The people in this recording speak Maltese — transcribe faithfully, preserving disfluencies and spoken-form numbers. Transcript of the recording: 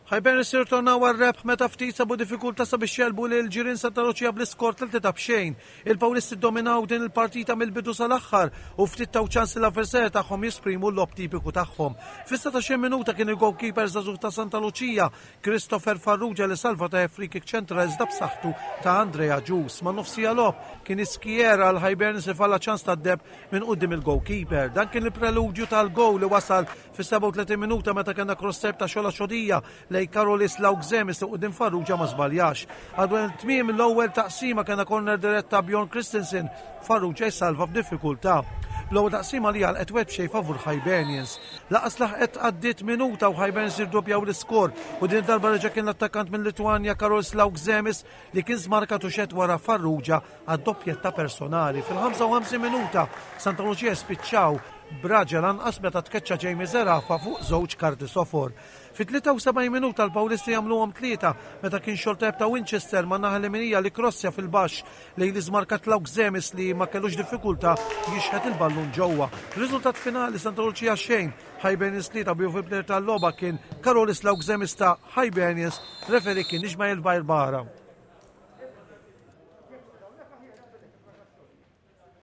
Hibernians irritornaw għar-rebħ meta ftit sabu diffikultà sabiex jegħlbu lil ġirien Santa Lucia bl-iskor tlieta b'xejn. Il-Pawlisti dominaw din il-partita mill-bidu sal-aħħar u ftit taw ċans l-avversarju tagħhom jesprimu l-logħob tipiku tagħhom. Fis-satax-il minuta kien il-goalkeeper żagħżugħ ta' Santa Lucia, Christopher Farrugia, li salva ta' free kick ċentra iżda b'saħħtu ta' Andrea Ġus. Ma' nofs siegħa logħob kien iskiera għal Hibernians li falla ċans tad-deheb minn quddiem il-goalkeeper. Dan kien il-preludju tal-goal li wasal fis-sebgħa u tletin minuta meta kellna cross ta' Xola Xodija lej Karolis Laugzemis li quddiem Farrugia ma żbaljax. Għadwen tmiem l-ewwel taqsima kellna corner diretta Bjorn Christensen, Farrugia jsalva f'diffikultà. L-ewwel taqsima li għalqet wieħed b'xejn favur Hibernians. Lanqas laħqet għaddiet minuta u Hibernians irdoppjaw l-iskor u din darba reġa' kien l-attakkant minn Litwanja Karolis Laugzemis li kien żmarkat u xeħet wara Farrugia għad-doppjetta personali. Fil-ħamsa u ħamsin minuta Santa Lucia spiċċaw b'raġel anqas meta tkeċċa Jamie Zerafa fuq żewġ karti sofor. Fit-tlieta u sebgħin minuta l-Pawlisti jagħmluhom tlieta meta kien xorteb ta' Winchester ma' naħa l-leminija li krossja fil-baxx lejn l-iżmarkat Laugzemis li ma kellux diffikultà jixħet il-ballun ġewwa. Riżultat finali, Santa Lucia xejn, Hibernians tlieta, bi player tal-logħba kien Karolis Laugzemis ta' Hibernians, referee kien Ismail Barbara.